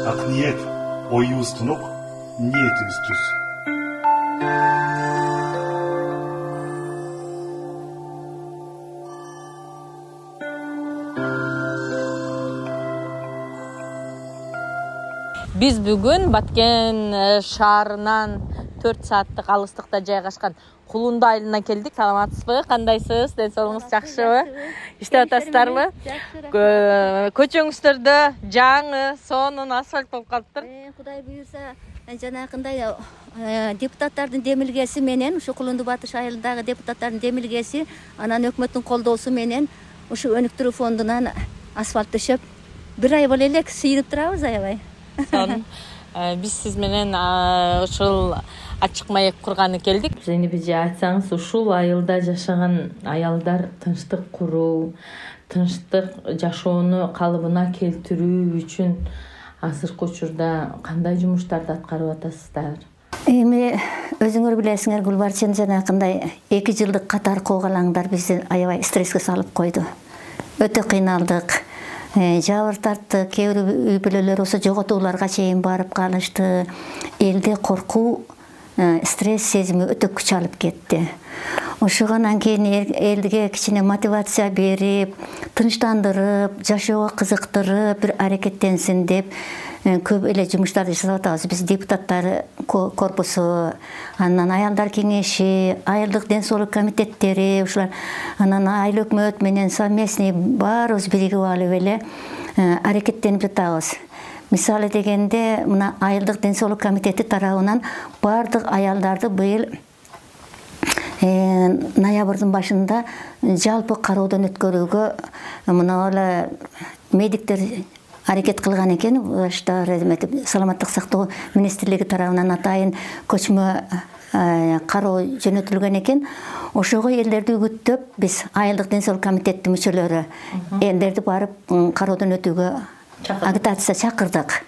ак ниет, оюбуз тунук, ниетибиз түз. Биз бүгүн Баткен шаарынан 4 сааттык алыстыкта жайгашкан Кулунду айылына келдик. Саламатсызбы? Кандайсыз? Ден соолугуңуз жакшыбы? Иштеп атасыздарбы? Көчөңүздөрдө жаңы, сонун асфальт болуп калыптыр. Кудай буйрса, жанакындай депутаттардын демилгеси менен, ушу Кулунду Батыш айылындагы депутаттардын демилгеси, анан өкмөттүн колдоосу менен ушу өнүктүрүү фондунан асфальт төшөп, 1 ай боло элек сыйынып турабыз аябай. Биз сиз менен ушул ачык маек курганы келдик. Зейнеби айтсаңыз, ушул айылда жашаган аялдар тынчтык куруу, тынчтык жашоону калыбына келтирүү үчүн азыркы учурда кандай жумуштарды аткарып атасыздар? Эми өзүңөр билесиңер, Гүлбарчын, жанакындай 2 жылдык катар куугалаңдар бизди аябай стресске салып койду. Өтө кыйналдык. Жабыр тартты, кээ бир үй бүлөлөр болсо жоготууларга чейин барып калышты. Элде коркуу, стресс сезими өтө күч алып кетти. Ошондон кийин элге кичине мотивация берип, тынчтандырып, жашоого кызыктырып, бир аракеттенсин деп көп эле жумуштарды жасап атабыз. Биз депутаттар корпусу, анан аялдар кеңеши, айылдык ден соолук комитеттери, ушулар, анан айыл өкмөт менен совместный баарыбыз биригип алып эле аракеттенип жатабыз. Мисалы дегенде, мына айылдык ден соолук комитети тарабынан бардык аялдарды быйыл ноябрдын башында жалпы кароодон өткөрүүгө мына эле медиктер аракет кылган экен. Саламаттык сактоо министрлиги тарабынан атайын көчмө кароо жөнөтүлгөн экен. Ошого элдерди үгүттөп, биз айылдык ден соолук комитеттин мүчөлөрү элдерди барып кароодон өтүүгө агитация чакырдык.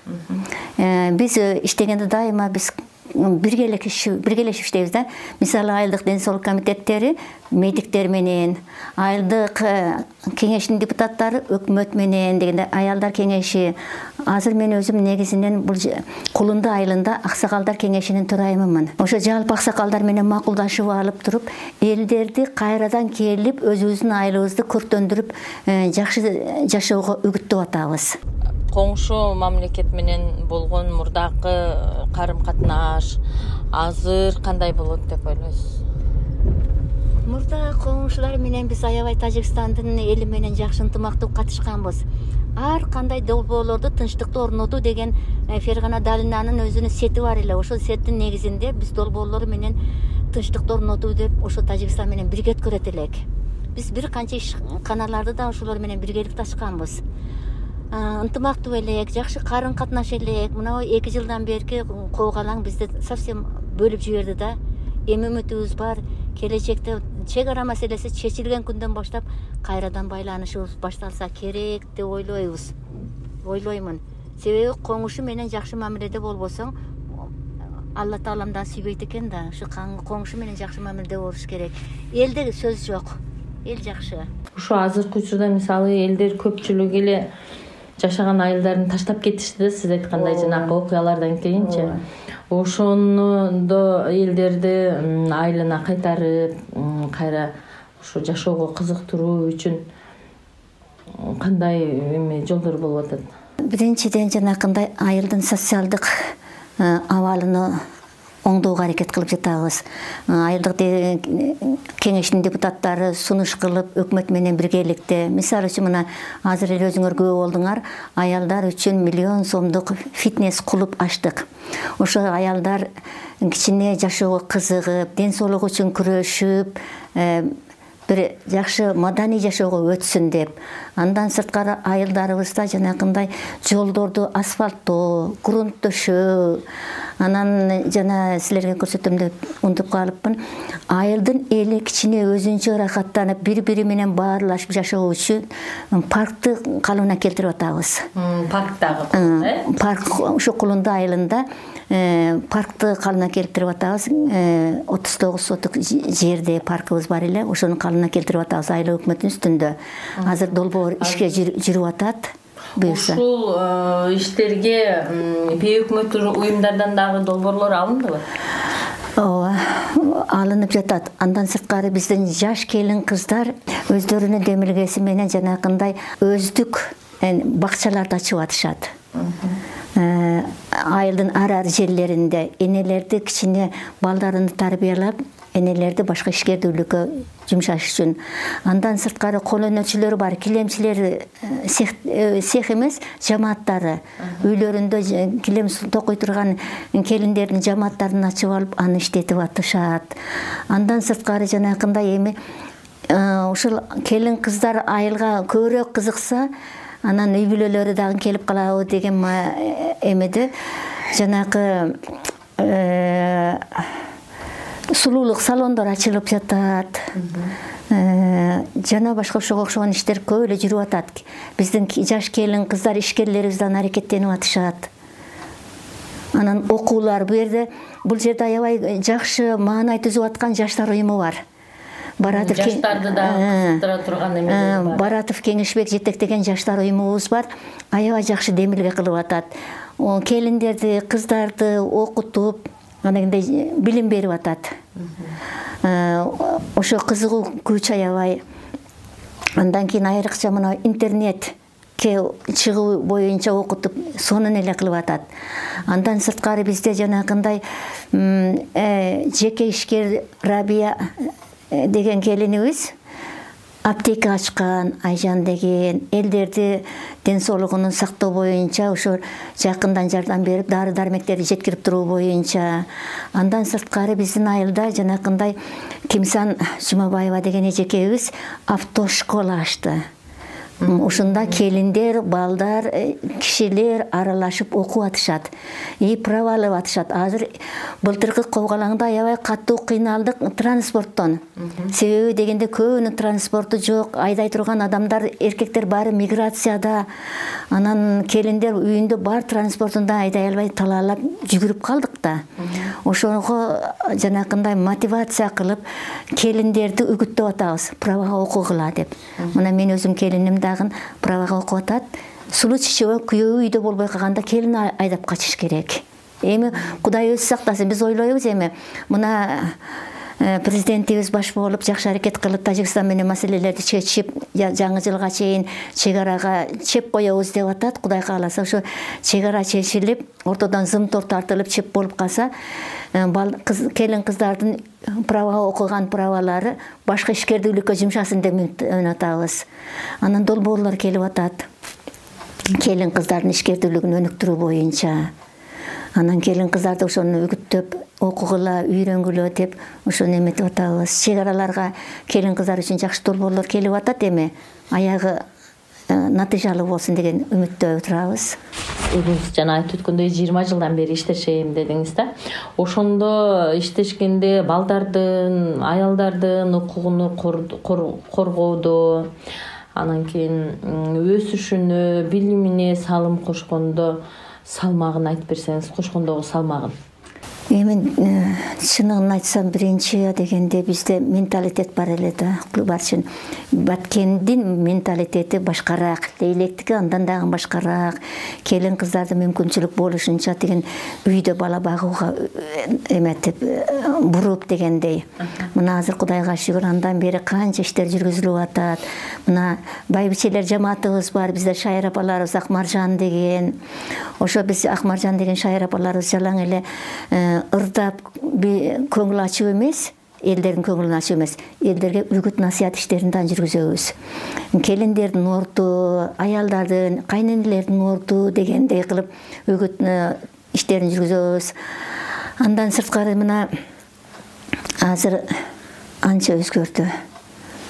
Биз иштегенде дайыма биз биргелешип иштейбиз да. Мисалы айылдык ден соолук комитеттери медиктер менен, айылдык кеңештин депутаттары өкмөт менен дегенде, аялдар кеңеши. Азыр мен өзүм негизинен бул Кулунду айылында аксакалдар кеңешинин төрайымымын. Ошо жалпы аксакалдар менен макулдашып алып туруп, элдерди кайрадан келип өзүбүздүн айылыбызды көрктөндүрүп, жакшы жашоого үгүттөп атабыз. Коңшу мамлекет менен болгон мурдакы карым-катнаш азыр кандай болот деп ойлойсуз? Мурда коңшулар менен биз аябай Тажикстандын эли менен жакшы ынтымактуу катышканбыз. Ар кандай долбоорлорду тынчтыкты орнотуу деген Фергана Далинанын өзүнүн сети бар эле. Ошол сеттин негизинде биз долбоорлор менен тынчтыкты орнотуу деп ошо Тажикстан менен бирге өткөрөт элек. Биз бир канча ишканаларды да ошолор менен биргеликте ачканбыз. Ынтымактуу элек, жакшы карын-катнаш элек. Мына 2 жылдан берки куугалаң бизди совсем бөлүп жиберди да. Эми үмүтүбүз бар, келечекте чек ара маселеси чечилген күндөн баштап кайрадан байланышыбыз башталса керек деп ойлоймун. Себеби коңушу менен жакшы мамиледе болбосоң, Алла Тааламдан сүйбөйт экен да. Ушу коңушу менен жакшы мамиледе болуш керек. Элде сөз жок. Эл жакшы. Ушу азыркы учурда мисалы элдер көпчүлүгү эле жашаган айылдарын таштап кетишти да, сиз айткандай жанагы окуялардан кийинчи. Ошондо элдерди айылына кайтарып, кайра ушу жашоого кызыктыруу үчүн кандай жолдор болуп атат? Биринчиден жанакындай айылдын социалдык абалын оңдоого аракет кылып жатабыз. Айылдык кеңештин депутаттары сунуш кылып, өкмөт менен биргеликте, мисалы үчүн мына азыр эле өзүңөр күбө болдуңар, аялдар үчүн 1 миллион сомдук фитнес клуб ачтык. Ошо аялдар кичине жашоого кызыгып, ден соолугу үчүн күрөшүп, бир жакшы маданий жашоого өтсүн деп. Андан сырткары айылдарыбызда жанакындай жолдорду асфальттоо, грунт төшөө, анан жана силерге көрсөтөм деп унутуп калыпмын. Айылдын эли кичине өзүнчө ырахаттанып, бири-бири менен баарлашып жашоо үчүн паркты калыбына келтирип атабыз. Парктагы, парк ушу Кулунду айылында паркты калыбына келтирип атабыз. 39 соток жерде паркыбыз бар эле, ошону калыбына келтирип атабыз айыл өкмөттүн үстүндө. Азыр долбоор ишке жүрүп атат. буюрса. Ушул иштерге бейөкмөттүк уюмдардан дагы долбоорлор алындыбы? Ооба, алынып жатат. Андан сырткары биздин жаш келин кыздар өздөрүнүн демилгеси менен жанакындай өздүк бакчаларды ачып атышат. Айылдын ар жерлеринде энелерди кичине балдарын тарбиялап, энелерди башка ишкердүүлүккө жумшаш үчүн. Андан сырткары кол өнөрчүлөр бар, килемчилер, цех эмес, жамааттары. Үйлөрүндө килем токой турган келиндердин жамааттарын ачып алып, аны иштетип атышат. Андан сырткары жанакындай эми ушул келин кыздар айылга көбүрөөк кызыкса, анан үй бүлөлөрү дагы келип калабы деген эмеде жанакы сулуулук салондор ачылып жатат. Жана башка ошого окшогон иштер көп эле жүрүп атат. Биздин жаш келин кыздар ишкерлерибиз дагы аракеттенип атышат. Анан окуулар бул жерде аябай жакшы маанай түзүп аткан жаштар уюму бар. Жаштарды да кызыктыра турган эмелер бар. Баратов Кеңешбек жетектеген жаштар уюмубуз бар. Аябай жакшы демилге кылып атат. Келиндерди, кыздарды окутуп, анагындай билим берип атат. Ошо кызыгуу күч аябай. Андан кийин айрыкча мына интернетке чыгуу боюнча окутуп, сонун эле кылып атат. Андан сырткары бизде жанагындай жеке ишкер Рабия деген келинибиз аптека ачкан, Айжан деген, элдерди ден соолугун сактоо боюнча ошо жакындан жардам берип, дары-дармектерди жеткирип туруу боюнча. Андан сырткары биздин айылда жанакындай Кимсан Жумабаева деген эжекебиз автошкола ачты. Ушунда келиндер, балдар, кишилер аралашып окуп атышат. Право алып атышат. Азыр былтыркы кобгалаңда аябай катуу кыйналдык транспорттон. Себеби дегенде көбүнүн транспорту жок, айдай турган адамдар, эркектер баары миграцияда. Анан келиндер үйүндө бар транспортунда айдай албай талаалап жүгүрүп калдык да. Ошого жанакындай мотивация кылып, келиндерди үгүттөп атабыз, правага окугула деп. Мына мен өзүм келиним дагы правага окуп атат. Сулуу чечеби күйөөбү үйдө болбой калганда келин айдап качыш керек. Эми Кудай өзү сактасын, биз ойлойбуз эми мына президентибиз баш болуп жакшы аракет кылып Тажикстан менен маселелерди чечип, жаңы жылга чейин чек арага чеп коебуз деп атат. Кудай кааласа ошо чек ара чечилип, ортодон зымтор тартылып чеп болуп калса, келин кыздардын правага окуган правалары башка ишкердүүлүккө жумшасын деп үмүт атабыз. Анан долбоорлор келип атат. Келин кыздардын ишкердүүлүгүн өнүктүрүү боюнча. Анан келин кыздарды ошону үгүттөп, окугула, үйрөнгүлө деп ошону эметип атабыз. Чек араларга келин кыздар үчүн жакшы долбоорлор келип атат, эми аягы натыйжалуу болсун деген үмүттө турабыз. Өзүңүз жана айтып өткөндөй 20 жылдан бери иштешейм дедиңиз да. Ошондо иштешкенде балдардын, аялдардын укугун коргоодо, анан кийин өсүшүнө, билимине салым кошкондо салмагын айтып берсеңиз, кошкондогу салмагын. Эми чыныгын айтсам, биринчи дегенде бизде менталитет бар эле да, барчын. Баткендин менталитети башкараак, Лейлектики андан дагы башкараак. Келин кыздарды мүмкүнчүлүк болушунча деген үйдө бала багууга эметип буруп дегендей. Мына азыр Кудайга шүгүр, андан бери канча иштер жүргүзүлүп атат. Мына байбичелер жамаатыбыз бар, бизде Шайыр апаларыбыз Акмаржан деген. Ошо биз Акмаржан деген Шайыр апаларыбыз жалаң эле ырдап көңүл ачуу эмес, элдердин көңүлүн ачуу эмес, элдерге үгүт насыят иштерин да жүргүзөбүз. Келиндердин орду, аялдардын, кайненелердин орду дегендей кылып үгүт иштерин жүргүзөбүз. Андан сырткары мына азыр анча өзгөрдү.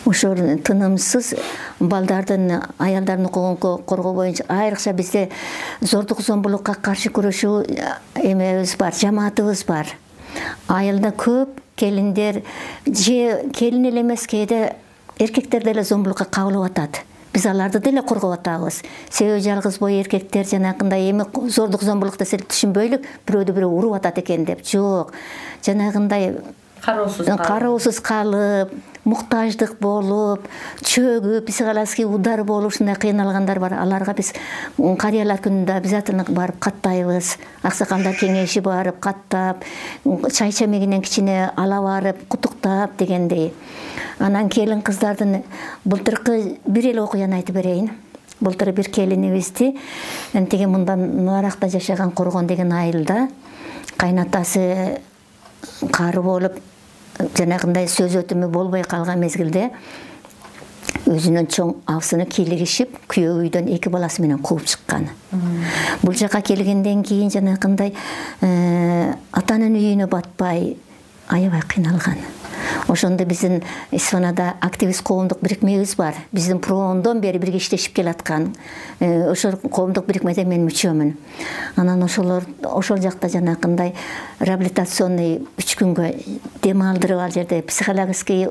Ошол тынымсыз балдардын, аялдардын укугун коргоо боюнча айрыкча бизде зордук зомбулукка каршы күрөшүү эмебиз бар, жамаатыбыз бар. Айылда көп келиндер же келин эле эмес, кээде эркектер деле зомбулукка кабылып атат. Биз аларды деле коргоп атабыз. Себеби жалгыз бой эркектер жанагындай эми зордук зомбулук десе түшүнбөйлүк, бирөөдү бирөө уруп атат экен деп. Жок. Жанагындай кароосуз калып, муктаждык болуп, чөгүп, психологический удар болуп ушундай кыйналгандар бар. Аларга биз карыялар күнүндө обязательно барып каттайбыз. Аксакалдар кеңеши барып каттап, чай чемегинен кичине ала барып, кутуктап дегендей. Анан келин кыздардын былтыркы бир эле окуяны айтып берейин. Былтыр бир келинибизди тиги мындан наракта жашаган Коргон деген айылда кайнатасы кары болуп, жанагындай сөз өтүмү болбой калган мезгилде өзүнүн чоң абысыны кийлигишип, күйөө үйдөн 2 баласы менен кууп чыккан. Бул жака келгенден кийин жанагындай атанын үйүнө батпай, аябай кыйналган. Ошондо биздин Исфанада активист коомдук бирикмебиз бар. Биздин проондон бери бирге иштешип келаткан. Ошол коомдук бирикмеде мен мүчөмүн. Анан ошол жакта жанагындай реабилитационный 3 күнгө дем алдырып, ал жерде психологический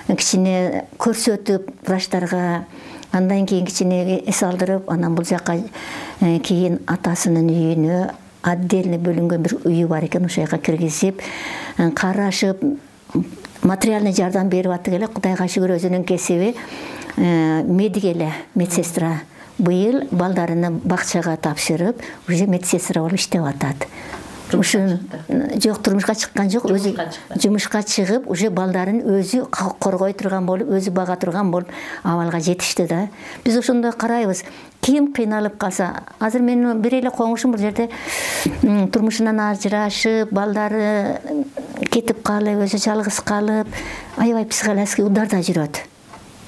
кичине көрсөтүп врачтарга, андан кийин кичине эс алдырып, анан бул жака кийин атасынын үйүнө отдельно бөлүнгөн бир үйү бар экен, ошол жака киргизип, карашып, материальный жардам берип аттык эле. Кудайга шүгүр, өзүнүн кесиби медик эле, медсестра. Быйыл балдарыны бакчага тапшырып, уже медсестра болуп иштеп атат. Ушун жок, турмушка чыккан жок, өзү жумушка чыгып, уже балдарын өзү коргой турган болуп, өзү бага турган болуп абалга жетишти да. Биз ошондой карайбыз. Ким кыйналып калса, азыр менин бир эле коңушум бул жерде турмушунан ажырашып, балдары кетип калып, өзү жалгыз калып, аябай психологический ударда жүрөт.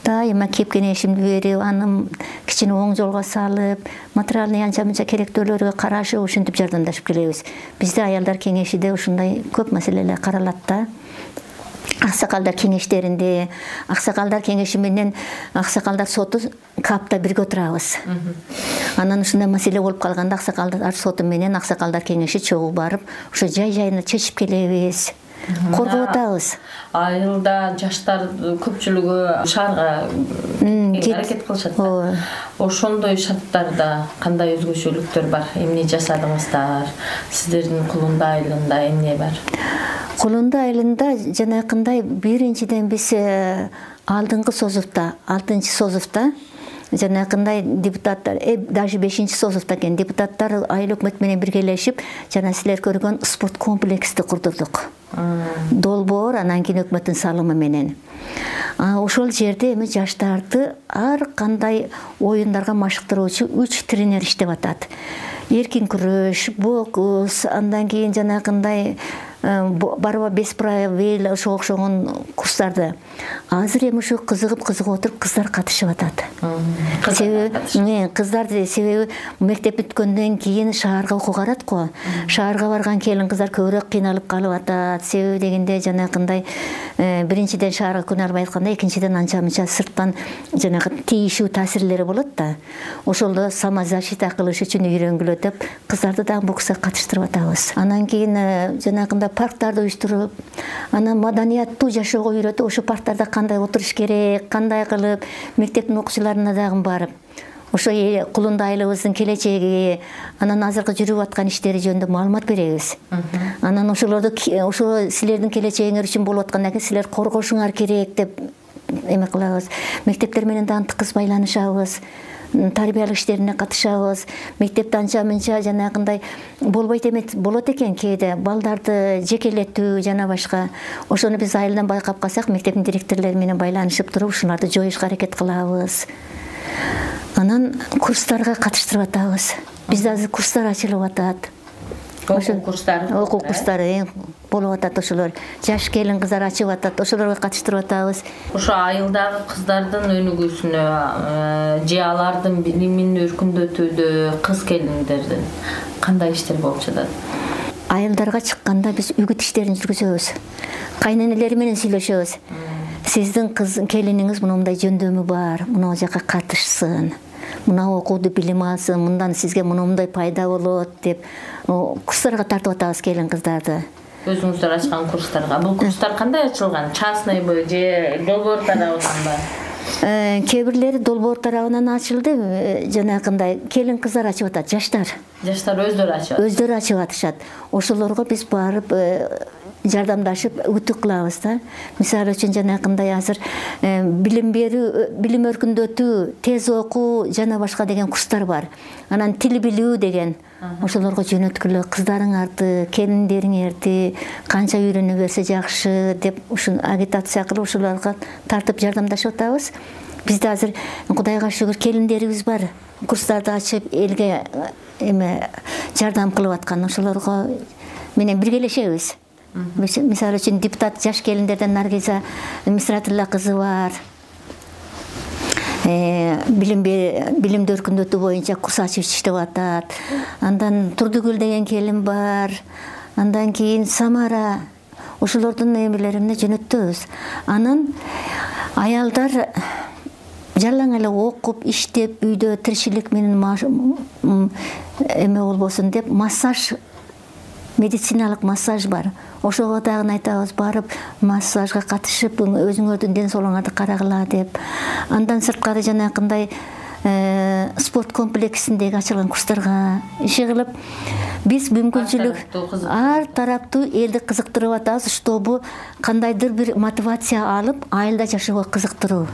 Дайыма кеп кеңешимди берип, аны кичине оң жолго салып, материальный анча-мынча керектөөлөргө карашып, ушинтип жардамдашып келебиз. Бизде аялдар кеңешиде ушундай көп маселелер каралат да. Аксакалдар кеңештеринде, аксакалдар кеңеши менен аксакалдар соту капта бирге отурабыз. Анан ушундай маселе болуп калганда аксакалдар соту менен аксакалдар кеңеши чогуу барып, ошо жай-жайына чечип келебиз. Коргоп атабыз. Айылда жаштар көпчүлүгү шаарга аракет кылышат. Ошондой шарттарда кандай өзгөчөлүктөр бар? Эмне жасадыңыздар? Сиздердин Кулунда айылында эмне бар? Кулунда айылында жанакындай биринчиден биз алдыңкы созувта, 6-чы созувта жанакындай депутаттар, даже 5-чи созувта экен депутаттар айыл өкмөт менен биргелешип, жана силер көргөн спорт комплексти курдурдук. Долбоор, анан кийин өкмөттүн салымы менен. Ошол жерде эми жаштарды ар кандай оюндарга машыктыруучу 3 тренер иштеп атат. Эркин күрөш, бокс, андан кийин жанагындай барба бес правил ошого окшогон курстарды. Азыр эми ушу кызыгып отуруп кыздар катышып атат. Себеби кыздар мектеп бүткөндөн кийин шаарга окууга барат го. Шаарга барган келин кыздар көбүрөөк кыйналып калып атат. Себеби дегенде жанагындай биринчиден шаарга күнө албай атканда, экинчиден анча-мынча сырттан жанагы тийишүү таасирлери болот да. Ошолдо самозащита кылыш үчүн үйрөнгүлө деп кыздарды да бокска катыштырып атабыз. Анан кийин жанагындай парктарды уюштуруп, анан маданияттуу жашоого үйрөтүп, ошо парктарда кандай отуруш керек, кандай кылып, мектептин окуучуларына дагы барып, ошо Кулунда айылыбыздын келечеги, анан азыркы жүрүп аткан иштери жөнүндө маалымат беребиз. Анан ошолорду ошо силердин келечегиңер үчүн болуп аткандан кийин силер коргошуңар керек деп эме кылабыз. Мектептер менен дагы тыкыз байланышабыз. Тарбиялык иштерине катышабыз. Мектепте анча-мынча жанагындай болбойт эмес болот экен кээде, балдарды жекелетүү жана башка. Ошону биз айылдан байкап калсак, мектептин директорлору менен байланышып туруп, ушуларды жоюшка аракет кылабыз. Анан курстарга катыштырып атабыз. Бизде азыр курстар ачылып атат. Окуу курстары болуп атат, ошолор. Жаш келин кыздар ачып атат, ошолорго катыштырып атабыз. Ошо айылдагы кыздардын өнүгүүсүнө же алардын билимин өркүндөтүүдө кыз келиндердин кандай иштер болуп жатат? Айылдарга чыкканда биз үгүт иштерин жүргүзөбүз. Кайненелери менен сүйлөшөбүз. Сиздин келиниңиз мындай жөндөмү бар, мына жака катышсын. Мына окууду билим алсын, мындан сизге мындай пайда болот деп курстарга тартып атабыз келин кыздарды. Өзүңүздөр ачкан курстарга. Бул курстар кандай ачылган? Частныйбы же долбоор тарабынан? Кээ бирлери долбоор тарабынан ачылды, жанагындай келин кыздар ачып атат, жаштар. Жаштар өздөрү ачып атышат. Өздөрү ачып атышат. Ошолорго биз барып жардамдашып үтүк кылабыз да. Мисалы үчүн жанакындай азыр билим берүү, билим өркүндөтүү, тез окуу жана башка деген курстар бар. Анан тил билүү деген ошолорго жөнөткүлө, кыздарыңарды, келиндериңерди канча үйрөнө берсе жакшы деп ушун агитация кылып ошолорго тартып жардамдашып атабыз. Бизде азыр Кудайга шүгүр келиндерибиз бар. Курстарды ачып элге жардам кылып аткан, ошолорго менен биргелешебиз. Мисалы үчүн депутат жаш келиндерден Наргиза Мисратилла кызы бар. Билимди өркүндөтүү боюнча курс ачып иштеп атат. Андан Турдугүл деген келин бар. Андан кийин Самара. Ошолордун эмелерине жөнөттүбүз. Анан аялдар жалаң эле окуп, иштеп, үйдө тиричилик менен болбосун деп массаж, медициналык массаж бар. Ошого дагы айтабыз, барып массажга катышып, өзүңөрдүн ден соолугуңарды карагыла деп. Андан сырткары жанакындай спорт комплексиндеги ачылган курстарга иши кылып, биз мүмкүнчүлүк ар тараптуу элди кызыктырып атабыз, чтобы кандайдыр бир мотивация алып, айылда жашоого кызыктыруу.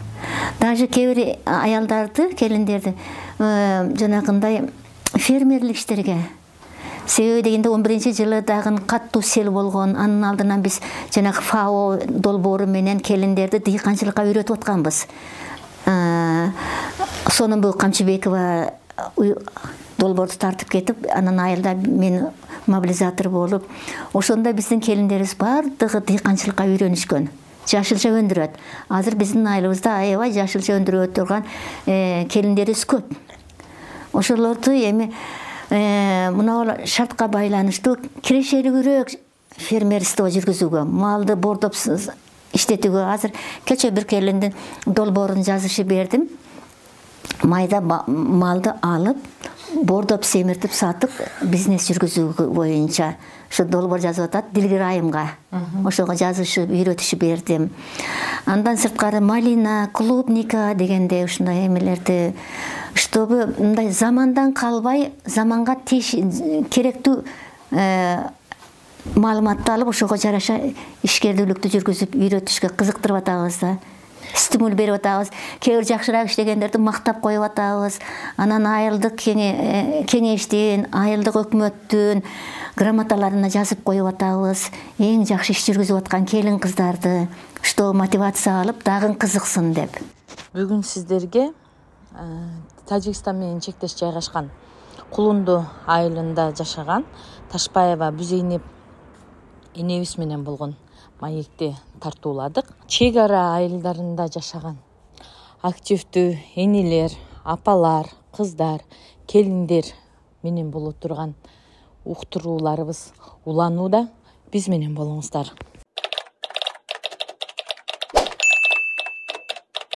Даже кээ бир аялдарды, келиндерди жанакындай фермерлик иштерге. Себеби дегенде 11-жылы дагы каттуу сел болгон. Анын алдынан биз жанагы ФАО долбоору менен келиндерди дыйканчылыкка үйрөтүп атканбыз. Сонун Камчыбекова долбоорду тартып кетип, анан айылда мен мобилизатор болуп, ошондо биздин келиндерибиз бардыгы дыйканчылыкка үйрөнүшкөн. Жашылча өндүрөт. Азыр биздин айылыбызда аябай жашылча өндүрө турган келиндерибиз көп. Ошолорду мына шартка байланыштуу кирешелүүрөөк фермерство жүргүзүүгө, малды бордоп иштетүүгө. Азыр кече бир келиндин долбоорун жазышып бердим. Майда малды алып, бордоп семиртип сатып, бизнес жүргүзүү боюнча ушу долбоор жазып атат Дилгир айымга. Ошого жазышып, үйрөтүшүп бердим. Андан сырткары малина, клубника дегенде ушундай эмелерди, чтобы мындай замандан калбай, заманга керектүү маалыматты алып, ошого жараша ишкердүүлүктү жүргүзүп, үйрөтүшкө кызыктырып атабыз да. Стимул берип атабыз. Кээ бир жакшыраак иштегендерди мактап коюп атабыз. Анан айылдык кеңештин, айылдык өкмөттүн грамоталарына жазып коюп атабыз. Эң жакшы иш жүргүзүп аткан келин кыздарды, что мотивация алып, дагы кызыксын деп. Бүгүн сиздерге Тажикстан менен чектеш жайгашкан Кулунду айылында жашаган Ташпаева Бүзейнеп энебиз менен болгон маекти тартууладык. Чек ара айылдарында жашаган активдүү энелер, апалар, кыздар, келиндер менен боло турган уктурууларыбыз уланууда. Биз менен болуңуздар.